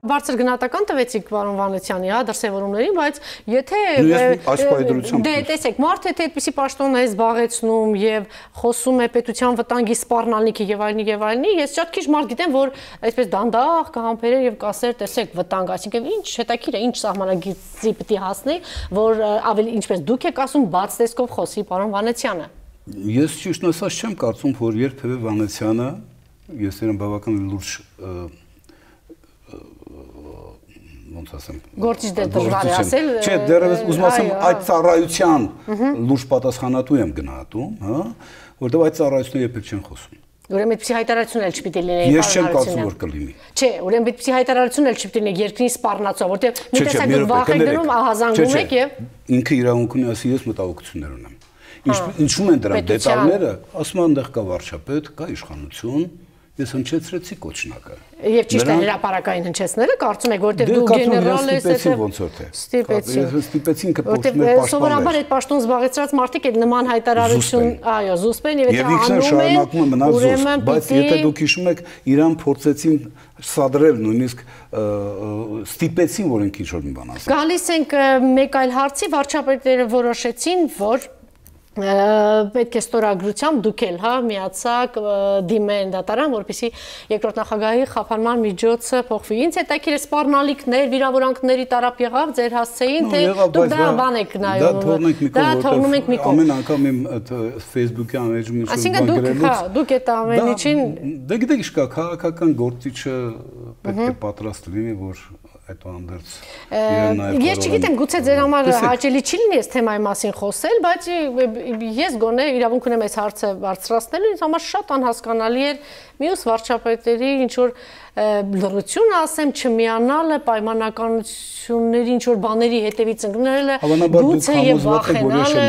Բարձր գնահատական տվեցիք պարոն Վանեցյանի, հա, դրսևորումներին, բայց եթե տեսեք, մարդը եթե այդպիսի պաշտոն է զբաղեցնում եւ խոսում է պետության վտանգի սպառնալիքի եւ այլնի, ես շատ քիչ մարդ գիտեմ, որ այսպես դանդաղ կհամբերեր եւ կասեր, տեսեք, վտանգ, այսինքն ինչ հետաքրքիր է, ինչ սահմանագծի պիտի հասնի, որ ավելի ինչպես դուք եք ասում, բաց տեսքով խոսի պարոն Վանեցյանը։ Ես ճիշտ ասած չեմ կարծում, որ երբևէ Վանեցյանը, ես իրեն բավական լուրջ ոնց ասեմ, գործիչ դժվար է ասել։ Չէ, դեռևս ուզում ասեմ այդ ծառայության լուրջ պատասխանատու եմ գնահատում, հա, որտեղ այդ ծառայությունները երբեք չեն խոսում։ Ուրեմն այդպիսի հայտարարություն էլ չպիտի լինի։ Ես չեմ կարծում, որ կլինի։ Չէ, ուրեմն այդպիսի հայտարարություն էլ չպիտի լինի երկրի սպառնացող, որտեղ մի տեսակ դուք վախ եք դնում, ահազանգում եք եւ ինքը իրավունք ունի, ասի ես մտահոգություններ ունեմ։ Ինչու են դրանք դետալները, ասում են այնտեղ կա վարչապետ, կա իշխանություն, ես հնչեցրեցի կոչնակը։ Եվ ճիշտ է հրապարակային հնչեցնելը, կարծում եք, որտեղ դու գեներալ ես, ստիպեցին կփոխվի պաշտպաններ։ Սովորաբար այդ պաշտոն զբաղեցրած մարդիկ այդ նման հայտարարություն, այո, զուսպ են եւ եթե անում են, ուրեմն բայց եթե դուք հիշում եք, իրան փորձեցին սադրել, նույնիսկ ստիպեցին, որ ինքը ինչ-որ մի բան ասի։ Գալիս ենք մեկ այլ հարցի, վարչապետերը որոշեցին, որ պետք է ստորագրությամբ դուք էլ հա միացաք դիմեն դատարան, որպեսզի երկրորդ նախագահի խափանման միջոցը փոխվի։ Ինձ հետաքրքիր է սպառնալիքներ, վիրավորանքների տարապ եղավ ձեր հասցեին, թե դուք դա բան եք նայում։ Դա թողնում ենք մի կողմ։ Ամեն անգամ իմ Facebook-ի անեջում ինչ-որ բան գրելուց։ Հա, դուք այդ ամեն ինչին Դե գիտեք ինչ կա, քաղաքական գործիչը պետք է պատրաստ լինի, որ այդուհանդերձ իրեն նաև Ես չգիտեմ, գուցե ձեր համար հաճելի չի լինի այս թեմայի մասին խոսել, բայց ես գոնե իրավունք ունեմ այս հարցը բարձրացնելու, ինձ համար շատ անհասկանալի էր մյուս վարչապետերի ինչ որ լռություն ասեմ, չմիանալը, պայմանականությունների ինչ որ բաների հետևից ընկնելը, գուցե եւ վախենալը։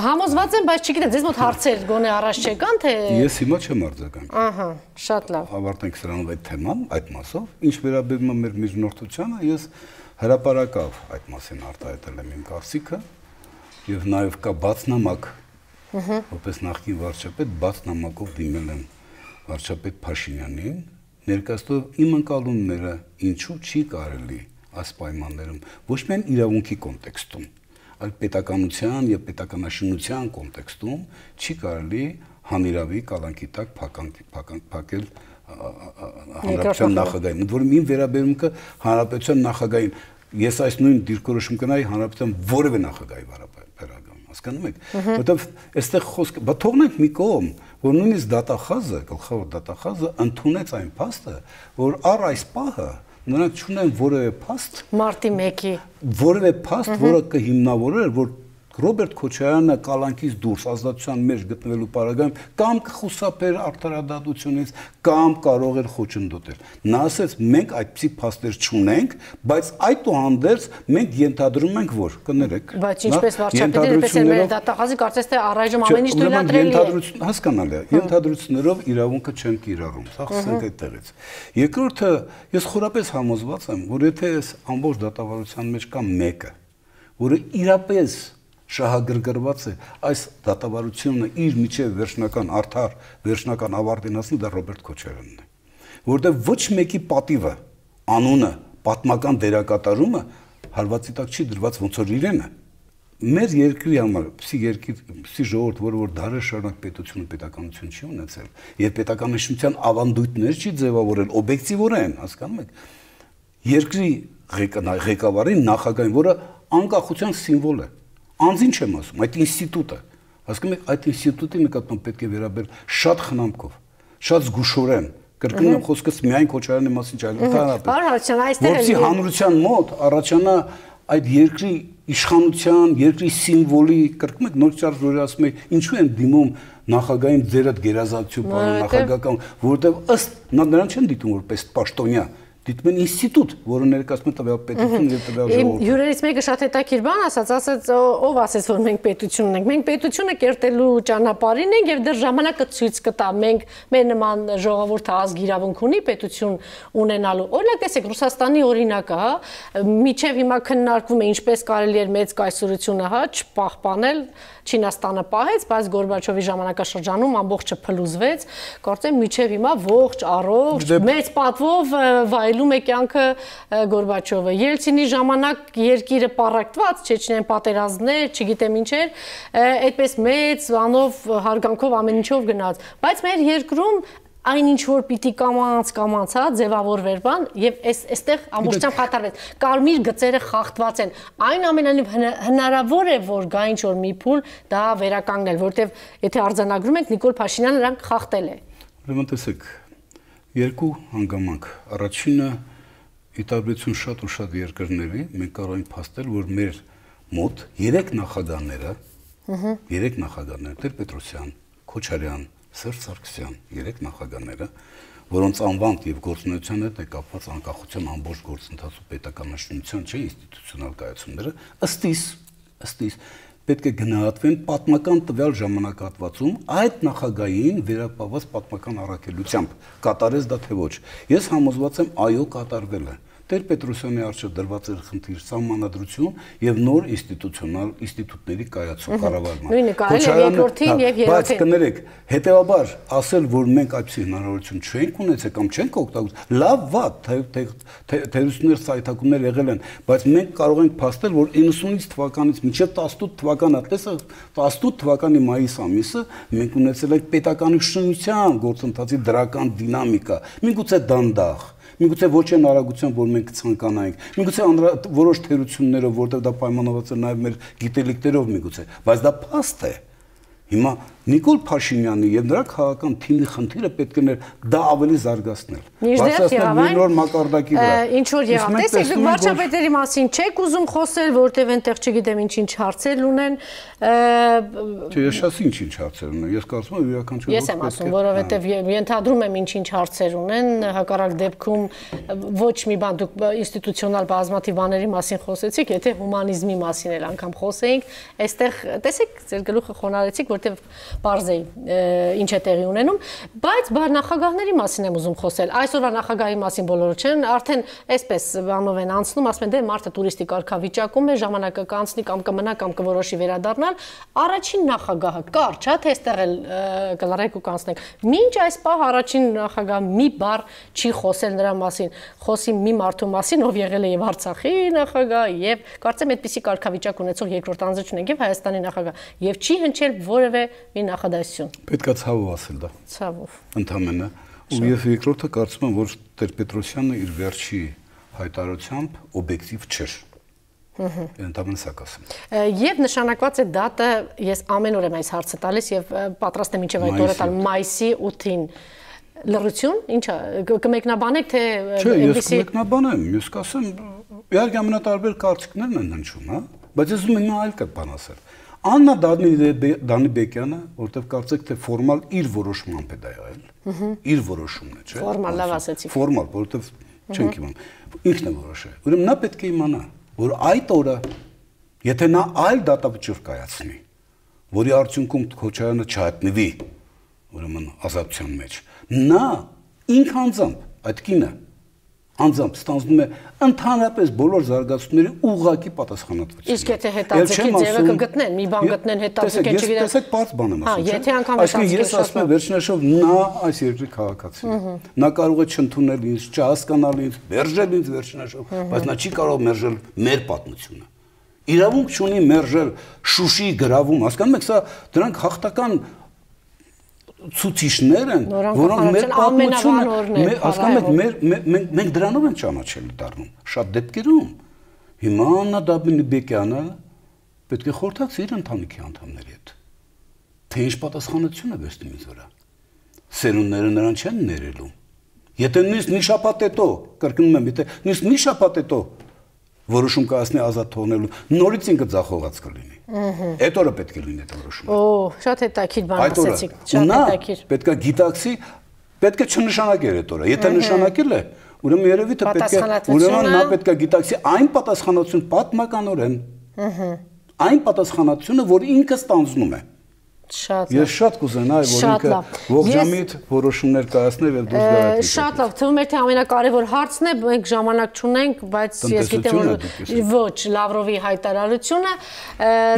Համոզված եմ, բայց չգիտեմ, ձեզ մոտ հարցեր գոնե առաջ չեկան, թե Ես հիմա չեմ արձագանքի։ Ահա, շատ լավ։ Ավարտենք սրանով այդ թեման, այդ մասով, ինչ վերաբերում է մեր միջնորդությանը, ես հրապարակավ այդ մասին արտահայտել եմ իմ կարծիքը եւ նաեւ կա բացնամակ, որպես նախկին վարչապետ բացնամակով դիմել եմ վարչապետ Փաշինյանին, ներկայացնելով իմ ընկալումները, ինչու չի կարելի այս պայմաններում ոչ միայն իրավունքի կոնտեքստում, այլ պետականության եւ պետականաշինության կոնտեքստում չի կարելի հանիրավի կալանքի տակ փակել հանրապետության նախագահին, որում իմ վերաբերմունքը հանրապետության նախագահին, ես այս նույն դիրքորոշում կնայի հանրապետության որևէ նախագահի վերաբերական, հասկանում եք, որտեղ այստեղ խոսքը, բա թողնենք մի կողմ, որ նույնիսկ դատախազը, գլխավոր դատախազը ընդունեց այն փաստը, որ առ այս պահը նրանք չունեն որևէ փաստ մարտի 1-ի որևէ փաստ, որը կհիմնավորեր, որ Ռոբերտ Քոչարյանը կալանքից դուրս ազատության մեջ գտնվելու պարագայում կամ կխուսափեր արդարադատությունից կամ կարող էր խոչընդոտել։ Նա ասեց, մենք այդպիսի փաստեր չունենք, բայց այդուհանդերձ մենք ենթադրում ենք, որ կներեք։ Բայց ինչպես վարչապետը, այնպես էլ մեր դատախազի կարծես թե առայժմ ամեն ինչ թույլատրելի է։ Հասկանալի է, ենթադրություններով իրավունքը չեն կիրառում, սա խոսենք այդտեղից։ Երկրորդը, ես խորապես համոզված եմ, որ եթե այս ամբողջ դատավարության մեջ կա մեկը, որը իրապես շահագրգռված է այս դատավարությունը իր միջև վերջնական արդար վերջնական ավարտին հասնի, դա Ռոբերտ Քոչարյանն է, որտեղ ոչ մեկի պատիվը, անունը, պատմական դերակատարումը հարվածի տակ չի դրված ոնց որ իրենը։ Մեր երկրի համար, պսի ժողովուրդ, որ դարեր շարունակ պետությունը պետականություն չի ունեցել, եւ պետականաշինության ավանդույթներ չի ձևավորել օբյեկտիվորեն, հասկանում եք, երկրի ղեկավարին նախագահին, որը անկախության սիմվոլ է, Անձին չեմ ասում, այդ ինստիտուտը, հասկանում եք, այդ ինստիտուտի նկատմամբ պետք է վերաբերել շատ խնամքով, շատ զգուշորեն, կրկնում եմ խոսքս միայն Քոչարյանի մասին չէ, որպեսզի հանրության մոտ առաջանա այդ երկրի իշխանության, երկրի սիմվոլի, կրկնում եք նոր ճարժ, որ ասում եք, ինչու են դիմում նախագահին ձեր այդ գերազանցություն պարոն նախագահական, որովհետև ըստ նրան չեն դիտում որպես պաշտոնյա, դիտում են ինստիտուտ, որը ներկայացնում է տվյալ պետություն եւ տվյալ ժողովուրդ։ Հյուրերից մեկը շատ հետաքրքիր բան ասաց, ով ասեց, որ մենք պետություն ունենք։ Մենք պետությունը կերտելու ճանապարհին ենք եւ դեռ ժամանակը ցույց կտա։ Մենք մեր նման ժողովուրդը ազգ իրավունք ունի պետություն ունենալու։ Օրինակ տեսեք Ռուսաստանի օրինակը, հա, միջև հիմա քննարկվում է ինչպես կարելի էր մեծ կայսրությունը, հա, չպահպանել, Չինաստանը պահեց, բայց Գորբաչովի ժամանակաշրջանում ամբողջը փլուզվեց, կարծեմ միջև հիմա ողջ առողջ մեծ պատվով փայլում է կյանքը Գորբաչովը։ Ելցինի ժամանակ երկիրը պառակտված, Չեչնիան պատերազմներ, չգիտեմ ինչեր, այդպես մեծ անով հարգանքով ամեն ինչով գնաց, բայց մեր երկրում այն ինչ որ պիտի կամաց ձևավորվեր բան եւ այստեղ ամբողջությամբ խաթարվեց կարմիր գծերը խախտված են այն ամենանիվ հնարավոր է որ գա ինչ որ մի փուլ դա վերականգնել որտեվ եթե արձանագրում ենք Նիկոլ Փաշինյանը նրանք խախտել է ուրեմն տեսեք երկու հանգամանք առաջինը ի տարբերություն շատ ու շատ երկրների մենք կարող ենք փաստել որ մեր մոտ 3 նախագահները Տեր-Պետրոսյան, Քոչարյան Սերժ Սարգսյան, 3 նախագահները, որոնց անվանդ եւ գործունեության հետ է կապված անկախության ամբողջ գործընթացու պետականաշինության չէ ինստիտուցիոնալ կայացումները, ըստ իս պետք է գնահատվեն պատմական տվյալ ժամանակահատվածում այդ նախագահային վերապահված պատմական առաքելությամբ կատարեց դա թե ոչ։ Ես համոզված եմ այո կատարվել է։ Տեր-Պետրոսյանի առջև դրված էր խնդիր սահմանադրություն եւ նոր ինստիտուտների կայացում կառավարման։ Նույնը կարելի է երկրորդին եւ երրորդին։ Բայց կներեք, հետեւաբար ասել, որ մենք այդպիսի հնարավորություն չենք ունեցել կամ չենք օգտագործել, լավ վատ, թերություններ սայթակումներ եղել են, բայց մենք կարող ենք փաստել, որ 90-ից թվականից մինչեւ 18 թվականը, տեսա 18 թվականի մայիս ամիսը մենք ունեցել ենք պետականաշինության գործընթացի դրական դինամիկա, միգուցե դանդաղ Միգուցե ոչ այն արագությամբ, որ մենք ցանկանայինք, միգուցե որոշ թերություններով, որտեղ դա պայմանավորված է նաև մեր գիտելիքներով միգուցե, բայց դա փաստ է։ Հիմա Նիկոլ Փաշինյանի եւ նրա քաղաքական թիմի խնդիրը պետք է դա ավելի զարգացնել։ Բարձրացնել մի նոր մակարդակի վրա։ Ինչ որ եղավ, տեսեք, դուք վարչապետերի մասին չեք ուզում խոսել, որտեղ այնտեղ չգիտեմ ինչ հարցեր ունեն։ Չէ, ես ասի ինչ հարցեր ունեն։ Ես կարծում եմ իրականություն։ Ես եմ ասում, որովհետեւ ենթադրում եմ ինչ հարցեր ունեն, հակառակ դեպքում ոչ մի բան դուք ինստիտուցիոնալ բազմաթիվ բաների մասին խոսեցիք, եթե հումանիզմի մասին էլ անգամ խոսեինք, այստեղ տեսեք, ձեր գլուխը խոնարհեցիք, որտեղ Պարզեի ինչ է տեղի ունենում, բայց նախագահների մասին եմ ուզում խոսել։ Այսօրվա նախագահի մասին բոլորը չեն, արդեն այսպես բանով են անցնում, ասում են դե մարդը տուրիստի կարգավիճակում է, ժամանակը կանցնի կամ կմնա կամ կորոշի վերադառնալ։ Առաջին նախագահը կարճ է, թե այստեղ էլ կլարեք ու կանցնենք։ Մինչ այս պահ առաջին նախագահը մի բառ չի խոսել նրա մասին, խոսի մի մարդու մասին, ով եղել է եւ Արցախի նախագահ, եւ կարծեմ այդպիսի կարգավիճակ ունեցող երկրորդ անձը չունենք եւ Հայաստանի նախագահ, եւ չի հնչել որևէ մի նախադասություն։ Պետք է ցավով ասել դա։ Ցավով։ Ընդամենը։ Ու եւ երկրորդը կարծում եմ, որ Տեր-Պետրոսյանը իր վերջի հայտարարությամբ օբյեկտիվ չէր։ Ընդամենը սա կասեմ։ Եվ նշանակված է դատը, ես ամեն օր եմ այս հարցը տալիս եւ պատրաստ եմ մինչեւ այդ օրը տալ մայիսի 8-ին։ Լռություն, ինչա, կմեկնաբանեք թե Չէ, ես կմեկնաբանեմ, ես կասեմ, իհարկե ամենատարբեր կարծիքներն են հնչում, հա, բայց ես ուզում եմ այլ բան ասել։ Աննա Դանիբեկյանը, որտեղ կարծեք թե ֆորմալ իր որոշմամբ է դա եղել։ Իր որոշումն է, չէ՞։ Ֆորմալ լավ ասեցիք։ Ֆորմալ, որտեղ չենք իմանում։ Ինքն է որոշել։ Ուրեմն նա պետք է իմանա, որ այդ օրը, եթե նա այլ դատավճիռ կայացնի, որի արդյունքում Քոչարյանը չհատնվի, ուրեմն ազատության մեջ, նա ինքն անձամբ այդ կինը անձամբ ստանձնում է ընդհանրապես բոլոր զարգացումների ուղղակի պատասխանատվություն։ Իսկ եթե հետաձգի ձևը կգտնեն, մի բան գտնեն հետաձգեն, չգիտեմ։ Տեսեք, բարձ բան եմ ասում։ Եթե անգամ հետաձգի, ես ասում եմ վերջնաշով նա այս երկրի քաղաքացին է։ Նա կարող է չընդունել ինձ, չհասկանալ ինձ, մերժել ինձ վերջնաշով, բայց նա չի կարող մերժել մեր պատմությունը։ Իրավունք չունի մերժել Շուշիի գրավում, հասկանում եք, սա դրանք հաղթական ցուցիչներ են, որոնք մեր պատմությունը, հասկանում եք, մենք դրանով են ճանաչելի դառնում շատ դեպքերում։ Հիմա Աննա Դանիբեկյանը պետք է խորհրդակցի իր ընտանիքի անդամների հետ, թե ինչ պատասխանատվություն է վերցնում ինձ վրա։ Սերունդները նրան չեն ներելու։ Եթե նույնիսկ մի շաբաթ հետո, կրկնում եմ, եթե նույնիսկ մի շաբաթ հետո որոշում կայացնի ազատ թողնելու, նորից ինքը ձախողած կլինի։ Այդ օրը պետք է լինի այդ որոշումը։ Օ, շատ հետաքրքիր բան ասեցիք, շատ հետաքրքիր։ Պետք է գիտակցի, պետք է չնշանակել այդ օրը։ Եթե նշանակել է, ուրեմն երևի թե պետք է, ուրեմն նա պետք է գիտակցի այն պատասխանատվություն պատմականորեն։ Այն պատասխանատվությունը, որ ինքը ստանձնում է։ Ես շատ կուզենայի, որ ինքը ողջամիտ որոշումներ կայացներ եւ դուրս գա այդ։ Շատ լավ, թվում է թե ամենակարևոր հարցն է, մենք ժամանակ չունենք, բայց ես գիտեմ որ ոչ Լավրովի հայտարարությունը,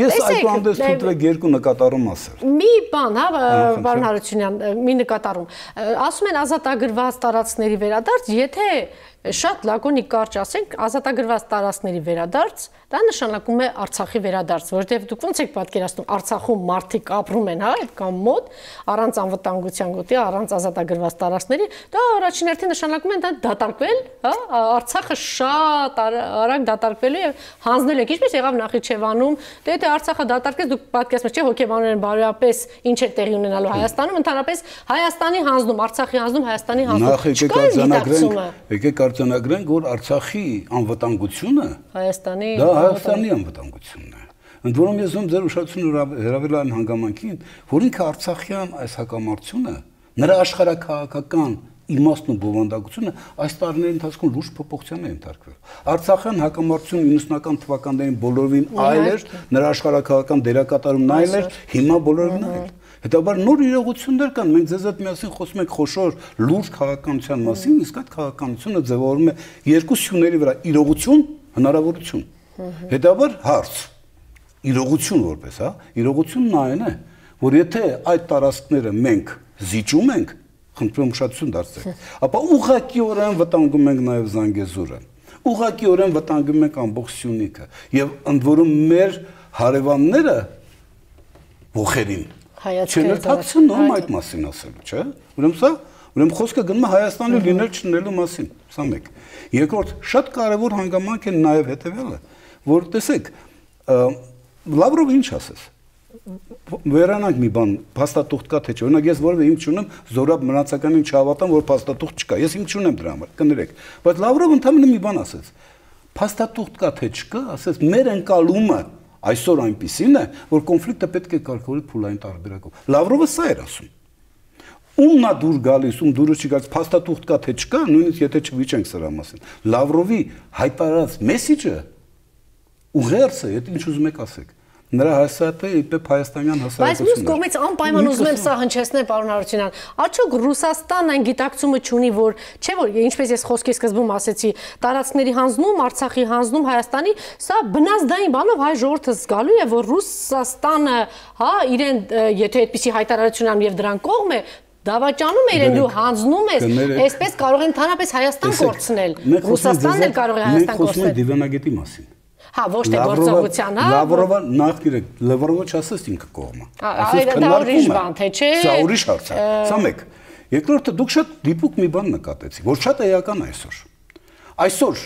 ես այդուհանդերձ թույլ երկու նկատառում ասել։ Մի բան, հա, պարոն Հարությունյան, մի նկատառում։ Ասում են ազատագրված տարածքների վերադարձ, եթե Շատ լակոնիկ կարճ ասենք, ազատագրված տարածքների վերադարձ, դա նշանակում է Արցախի վերադարձ, որովհետև դուք ոնց եք պատկերացնում, Արցախում մարդիկ ապրում են, հա, այդ կամ մոտ, առանց անվտանգության գոտի, առանց ազատագրված տարածքների, դա առաջին հերթին նշանակում է դա դատարկվել, հա, Արցախը շատ արագ դատարկվելու եւ հանձնել եք, ինչպես եղավ Նախիջևանում, դե եթե Արցախը դատարկվեց, դուք պատկերացնում եք, չէ, հոգեբանորեն բարոյապես ինչ է տեղի ունենալու Հայաստանում, ընդհանրապես Հայաստանի հանձնում, Արցախի հանձնում, Հայաստանի հանձնում։ Եկեք արձանագրենք, որ Արցախի անվտանգությունը Հայաստանի անվտանգությունն է։ Ընդ որում ես ում ձեր ուշադրությունը հրավիրել այն հանգամանքին, որ ինքը Արցախյան այս հակամարտությունը, նրա աշխարհաքաղաքական իմաստն ու բովանդակությունը այս տարիների ընթացքում լուրջ փոփոխության է ենթարկվել։ Արցախյան հակամարտությունը 90-ական թվականներին բոլորովին այլ էր, նրա աշխարհաքաղաքական դերակատարումն այլ էր, հիմա բոլորովին այլ։ Հետաբար նոր իրողություններ կան, մենք ձեզ հետ միասին խոսում ենք խոշոր լուրջ քաղաքականության մասին, իսկ այդ քաղաքականությունը ձևավորվում է երկու սյուների վրա՝ իրողություն, հնարավորություն։ Հետաբար հարց, իրողություն որպես, հա, իրողությունն այն է, որ եթե այդ տարածքները մենք զիջում ենք, խնդրում ուշադրություն դարձրեք, ապա ուղղակիորեն վտանգում ենք նաև Զանգեզուրը, ուղղակիորեն վտանգում ենք ամբողջ Սյունիքը եւ ընդ որում մեր հարևանները ողերին չեն թաքցնում այդ մասին ասելու, չէ՞։ Ուրեմն խոսքը գնում է Հայաստանի լինել չլինելու մասին, սա մեկ։ Երկրորդ, շատ կարևոր հանգամանք է նաև հետևյալը, որ տեսեք, Լավրովը ինչ ասես։ Վերանանք մի բան, փաստաթուղթ կա թե չէ։ Օրինակ ես որևէ հիմք չունեմ զորապ մնացականին չհավատամ, որ փաստաթուղթ չկա։ Ես հիմք չունեմ դրա համար, կներեք։ Բայց Լավրովը ընդհանրապես մի բան ասեց։ Փաստաթուղթ կա թե չկա, ասես մեր ընկալումը այսօր այնպիսին է, որ կոնֆլիկտը պետք է կարգավորել փուլային տարբերակով։ Լավրովը սա էր ասում։ Ումն է դուր գալիս, ում դուրը չի գալիս, փաստաթուղթ կա թե չկա, նույնիսկ եթե չվիճենք սրա մասին։ Լավրովի հայտարարած մեսիջը ուղերձը, եթե ինչ ուզում եք ասեք, նրա հասարակը իբր հայաստանյան հասարակությունն է։ Բայց մյուս կողմից անպայման ուզում եմ սա հնչեցնել, պարոն Հարությունյան, արդյոք Ռուսաստանն այն գիտակցումը չունի, որ չէ՞ որ ինչպես ես խոսքի սկզբում ասեցի, տարածքների հանձնում, Արցախի հանձնում Հայաստանի, սա բնազդային բանով հայ ժողովուրդը զգալու է, որ Ռուսաստանը, հա, իրեն եթե այդպիսի հայտարարություն անում եւ դրան կողմ է, դավաճանում է իրեն, դու հանձնում ես, այսպես կարող են ընդհանրապես Հայաստան կորցնել։ Ռուսաստանն էլ կարող է Հայաստան կորցնել։ Մենք խոսում ենք դիվանագետի մասին։ Հա, ոչ թե գործողության, հա։ Լավրովը նախ Լավրովը չասես ինքը կողմը։ Դա ուրիշ բան, թե չէ։ Սա ուրիշ հարց է։ Սա մեկ։ Երկրորդը դուք շատ դիպուկ մի բան նկատեցիք, որ շատ էական է այսօր։ Այսօր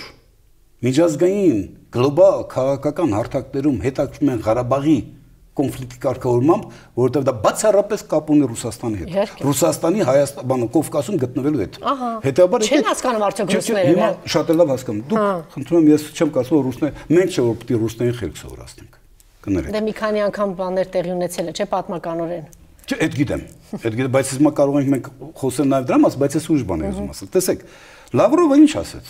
միջազգային գլոբալ քաղաքական հարթակներում հետաքրքրում են Ղարաբաղի կոնֆլիկտի կարգավորմամբ, որովհետև դա բացառապես կապ ունի Ռուսաստանի հետ։ Ռուսաստանի Հայաստանը Կովկասում գտնվելու հետ։ Հետաբար չեն հասկանում արդյոք ռուսները։ Հիմա շատ լավ հասկանում։ Դուք խնդրում եմ, ես չեմ կարծում, որ ռուսները մենք չէ որ պետք է ռուսներին խելք սովորացնենք։ Կներեք։ Դե մի քանի անգամ բաներ տեղի ունեցել է, չէ՞ պատմականորեն։ Չէ, այդ գիտեմ, բայց հիմա կարող ենք մենք խոսել նաև դրա մասին, բայց ես ուրիշ բան եմ ուզում ասել։ Տեսեք, Լավրովը ինչ ասեց։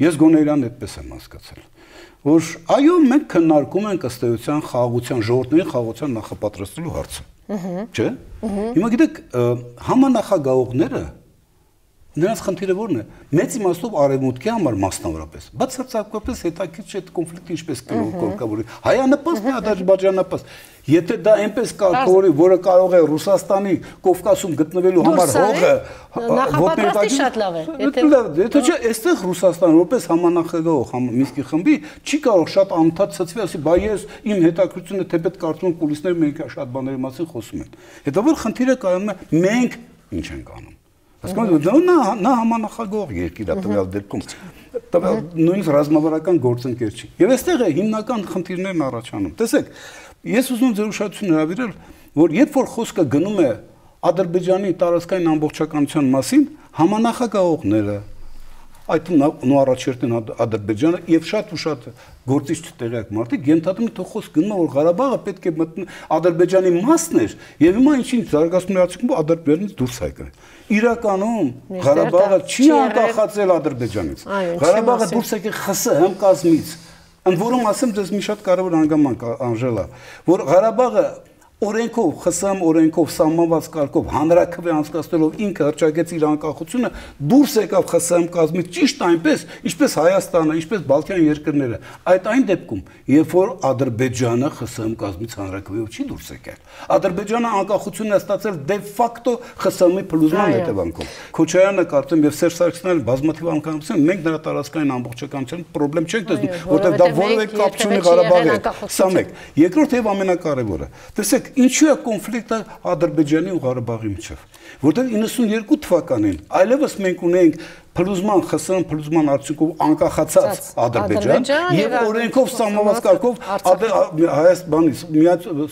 Ես գոնե իրան այդպես եմ հասկացել, որ այո, մենք քննարկում ենք ըստ էության խաղաղության ժողովրդների խաղաղության նախապատրաստելու հարցը։ Չէ՞։ Հիմա գիտեք, համանախագահողները նրանց խնդիրը ո՞րն է։ Մեծ իմաստով արևմուտքի համար մասնավորապես, բացարձակապես հետաքրքիր չէ այդ կոնֆլիկտը ինչպես կարգավորի։ Հայանպաստ է, ադրբեջանապաստ։ Եթե դա այնպես կարգավորի, որը կարող է Ռուսաստանի Կովկասում գտնվելու համար հողը նախապատրաստի շատ լավ է։ Եթե չէ, այստեղ Ռուսաստանը որպես համանախագահող Մինսկի խմբի չի կարող շատ անընդհատ ցծվի, ասի, բա ես իմ հետաքրքրությունը թեպետ կարծում եմ կուլիսներ մենք շատ բաների մասին խոսում են։ Հետո խնդիրը կայանում է մենք ինչ ենք անում։ Հասկանու՞մ, նա համանախագահող երկիր է տվյալ դեպքում, տվյալ նույնիսկ ռազմավարական գործընկեր չի։ Եվ այստեղ է հիմնական խնդիրներն առաջանում։ Տեսեք, ես ուզում ձեր ուշադրությունը հրավիրել, որ երբ որ խոսքը գնում է Ադրբեջանի տարածքային ամբողջականության մասին, համանախագահողները, այդ նո առաջերտին Ադրբեջանը եւ շատ ու շատ գործիչ չտեղյակ մարդիկ ենթադրում են, թե խոսք գնում է, որ Ղարաբաղը պետք է մտնի Ադրբեջանի մասն էր եւ հիմա ինչ-ինչ զարգացումների արդյունքում Ադրբեջանից դուրս է եկել։ Իրականում Ղարաբաղը չի անկախացել Ադրբեջանից։ Ղարաբաղը դուրս եկել ԽՍՀՄ կազմից։ Ընդ որում ասեմ ձեզ մի շատ կարևոր հանգամանք, Անժելա, որ Ղարաբաղը օրենքով, ԽՍՀՄ օրենքով սահմանված կարգով հանրաքվե անցկացնելով ինքը հռչակեց իր անկախությունը, դուրս եկավ ԽՍՀՄ կազմից ճիշտ այնպես, ինչպես Հայաստանը, ինչպես Բալթյան երկրները։ Այդ այն դեպքում, երբ որ Ադրբեջանը ԽՍՀՄ կազմից հանրաքվեով չի դուրս եկել։ Ադրբեջանը անկախությունն է ստացել դե ֆակտո ԽՍՀՄ-ի փլուզման հետևանքով։ Քոչարյանը կարծում եւ Սերժ Սարգսյանը բազմաթիվ անգամ ասում, մենք նրա տարածքային ամբողջականության խնդրեմ չենք տեսնում, որտեղ դա որևէ կապ չունի Ղարաբաղի հետ։ Սա մեկ։ Երկրորդ եւ ամենակարևորը, տեսեք, ինչու է կոնֆլիկտը Ադրբեջանի ու Ղարաբաղի միջև, որտեղ 92 թվականին այլևս մենք ունենք փլուզման ԽՍՀՄ փլուզման արդյունքով անկախացած Ադրբեջան եւ օրենքով սահմանված կարգով Հայաստանից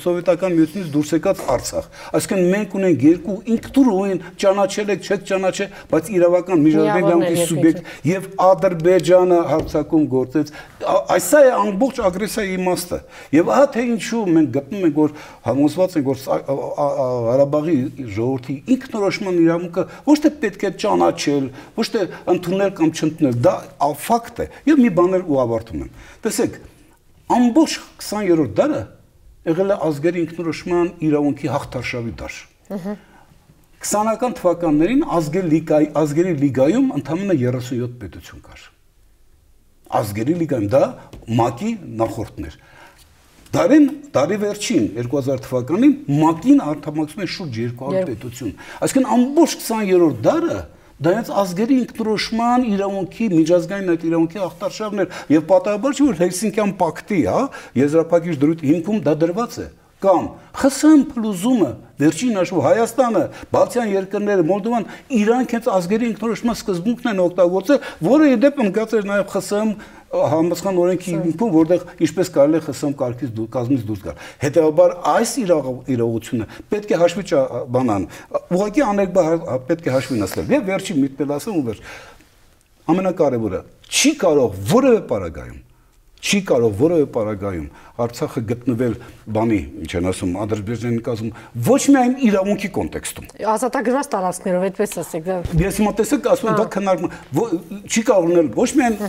սովետական միությունից դուրս եկած Արցախ։ Այսինքն մենք ունենք երկու ինքնուրույն ճանաչել եք, չեք ճանաչել, բայց իրավական միջազգային սուբյեկտ եւ Ադրբեջանը հարձակում գործեց։ Այսա է ամբողջ ագրեսիայի իմաստը։ Եվ ահա թե ինչու մենք գտնում ենք, որ համոզված ենք, որ Ղարաբաղի ժողովրդի ինքնորոշման իրավունքը ոչ թե պետք է ճանաչել, ոչ թե ընդունել կամ չընդունել, դա ֆակտ է։ Եվ մի բաներ ու ավարտում եմ։ Տեսեք, ամբողջ 20-րդ դարը եղել է ազգերի ինքնորոշման իրավունքի հաղթարշավի դար։ 20-ական թվականներին ազգերի լիգայում ընդամենը 37 պետություն կար։ Ազգերի լիգայում դա ՄԱԿ-ի նախորդն էր։ Դարի վերջին 2000 թվականին ՄԱԿ-ին անդամակցում է շուրջ 200 պետություն։ Այսինքն ամբողջ 20-րդ դարը դա հենց ազգերի ինքնորոշման իրավունքի միջազգային այդ իրավունքի ախտարշավն էր եւ պատահաբար չի որ Հելսինկյան պակտի, եզրափակիչ դրույթ հիմքում դա դրված է կամ ԽՍՀՄ փլուզումը վերջին հաշվով Հայաստանը, Բալթյան երկրները, Մոլդովան իրանք հենց ազգերի ինքնորոշման սկզբունքն են օգտագործել, որը ի դեպ ընդգծել էր նաեւ ԽՍՀՄ համաշխարհային օրենքի հիմքում, որտեղ ինչպես կարելի է ԽՍՀՄ կազմից դուրս գալ։ Հետևաբար այս իրողությունը պետք է հաշվի բանան, ուղղակի աներկբա պետք է հաշվի նստել։ Եվ վերջին միտքն ասեմ ու վերջ։ Ամենակարևորը չի կարող որևէ պարագայում Արցախը գտնվել բանի, ինչ են ասում, Ադրբեջանի կազմում, ոչ միայն իրավունքի կոնտեքստում։ Ազատագրված տարածքներով, այդպես ասեք, դա։ Ես հիմա տեսեք, ասում եմ, դա քննարկում չի կարող լինել ոչ միայն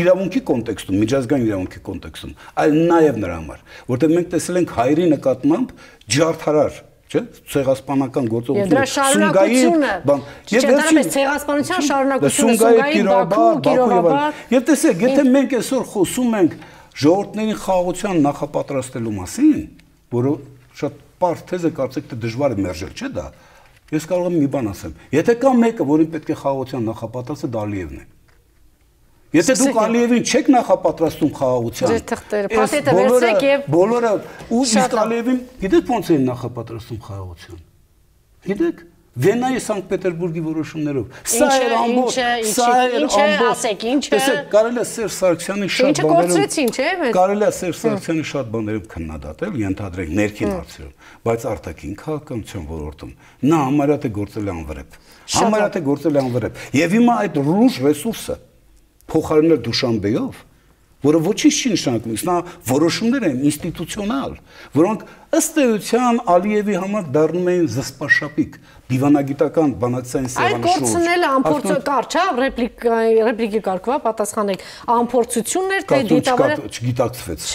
իրավունքի կոնտեքստում, միջազգային իրավունքի կոնտեքստում, այլ նաև նրա համար, որտեղ մենք տեսել ենք հայերի նկատմամբ ջարդարար ցեղասպանական գործողություններ Սումգային բան եւ դրանից ցեղասպանության շարունակությունը Սումգային Բաքու Կիրովաբադ եւ տեսեք եթե մենք այսօր խոսում ենք ժողովրդների խաղաղության նախապատրաստելու մասին որը շատ պարզ թեզ է կարծեք թե դժվար է մերժել չէ դա ես կարող եմ մի բան ասեմ եթե կա մեկը որին պետք է խաղաղության նախապատրաստը դա Ալիևն է Եթե դուք Ալիևին չեք նախապատրաստում խաղաղության, բոլորը ու իսկ Ալիևին գիտեք ոնց են նախապատրաստում խաղաղության։ Գիտեք, Վենայի Սանկտ Պետերբուրգի որոշումներով։ Սա էր ամբողջ, սա էր ամբողջ։ Տեսեք, կարելի է Սերժ Սարգսյանի շատ բաներով, կարելի է Սերժ Սարգսյանի շատ բաներով քննադատել, ենթադրենք ներքին հարցերում, բայց արտաքին քաղաքականության ոլորտում նա համարյա թե գործել է անվրեպ։ Համարյա թե գործել է անվրեպ։ Եվ հիմա այդ լուրջ ռեսուրսը փոխարինել Դուշանբեով, որը ոչինչ չի նշանակում, նա որոշումներ են ինստիտուցիոնալ, որոնք ըստ էության Ալիևի համար դառնում էին զսպաշապիկ, դիվանագիտական բանակցային սեղանի շուրջ։ Այդ կորցնելը ամփորձ չէ, ռեպլիկի կարգվա պատասխանեք, ամփորձություններ թե դիտավորը չգիտակցվեց։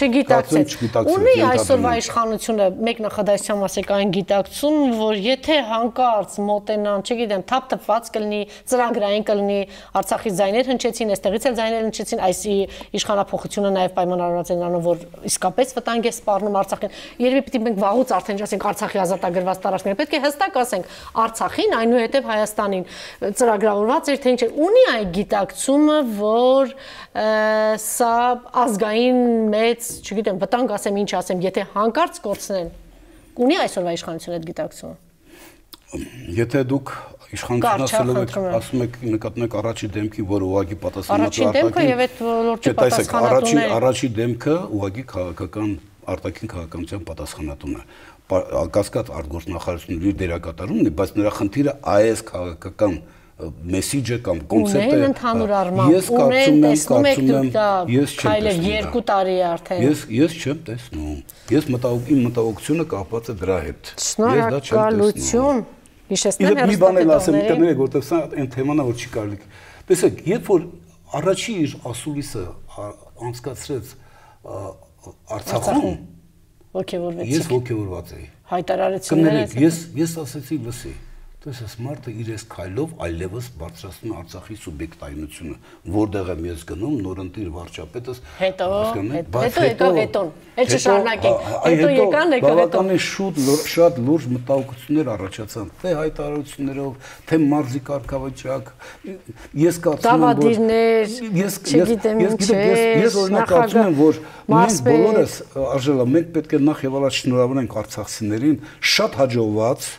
Ունի այսօրվա իշխանությունը մեկ նախադասությամբ ասեք այն գիտակցում, որ եթե հանկարծ մոտենան, չգիտեմ, թափ-թփված կլինի, ծրագրային կլինի, Արցախի ձայներ հնչեցին, այստեղից էլ ձայներ հնչեցին, այս իշխանափոխությունը նաև պայմանավորված է նրանով, որ իսկապես վտանգ է սպառնում Արցախին։ Երևի պիտի մենք վաղուց արդեն ասենք Արցախի ազատագրված տարածքները, պետք է հստակ ասենք Արցախին, այնուհետև Հայաստանին ծրագրավորված էր թե ինչ ունի այդ գիտակցումը, որ սա ազգային մեծ, չգիտեմ, վտանգ ասեմ, ինչ ասեմ, եթե հանկարծ կորցնեն, ունի այսօրվա իշխանությունը այդ գիտակցումը։ Եթե դուք իշխանություն ասում եք նկատում եք առաջի դեմքի, որը ուղղակի պատասխանատու է առաջի դեմքը ուղղակի քաղաքական արտաքին քաղաքականության պատասխանատուն է։ Կասկած արտգործնախարարությունների դերակատարումն է, բայց նրա խնդիրը այս քաղաքական մեսիջը կամ կոնցեպտը ունեն ընդհանուր առմամբ, ունեն տեսնում եք դուք դա քայլեր 2 տարի է արդեն։ Ես չեմ տեսնում։ Իմ մտահոգությունը կապված է դրա հետ։ Շնորհակալություն։ Հիշեցնեմ մի բան էլ ասեմ, կներեք, որտեղ սա այն թեման է, որ չի կարելի։ Տեսեք, երբ որ առաջի իր ասուլիսը անցկացրեց Արցախում, ոգևորվեցիք։ Ես ոգևորված էի։ Հայտարարությունները։ Ես ասեցի լսի։ Դες այս մարդը իր այս քայլով այլևս բարձրացնում Արցախի սուբյեկտայնությունը, որտեղ եմ ես գնում, նորընտիր վարչապետս, հետո եկավ հետոն, հետ շարունակենք, հետո եկան եկավ հետո։ Բավականին շատ լուրջ մտահոգություններ առաջացան, թե հայտարարություններով, թե մարզի կարգավիճակ, ես կարծում եմ, ես օրինակ կարծում եմ, որ մենք բոլորս արժելա, մենք պետք է նախ եւ առաջ շնորհավորենք արցախցիներին շատ հաջողված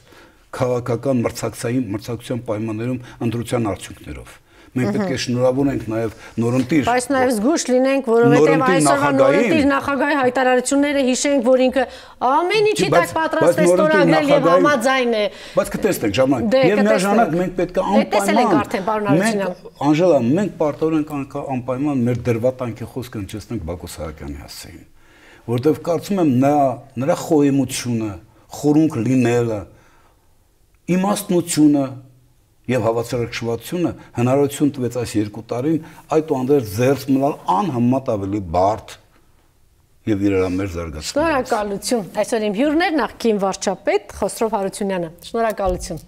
քաղաքական մրցակցության պայմաններում ընտրության արդյունքներով։ Մենք պետք է շնորհավորենք նաև նորընտիր։ Բայց նաև զգույշ լինենք, որովհետև այսօրվա նորընտիր նախագահի հայտարարությունները հիշենք, որ ինքը ամեն ինչի տակ պատրաստ է ստորագրել եւ համաձայն է։ Բայց կտեսնենք ժամանակ։ Եվ միաժամանակ մենք պետք է անպայման Անժելա, մենք պարտավոր ենք անպայման մեր դրվատանքի խոսքը հնչեցնենք Բակո Սահակյանի հասցեին, որովհետև կարծում եմ նրա խոհեմությունը, խորունկ լինելը, իմաստնությունը եւ հավասարակշռվածությունը հնարավորություն տվեց այս 2 տարին այդուհանդերձ ձեռք մնալ անհամեմատ ավելի բարդ եւ իրարամերժ զարգացնել։ Շնորհակալություն։ Այսօր իմ հյուրն էր նախկին վարչապետ Խոսրով Հարությունյանը։ Շնորհակալություն։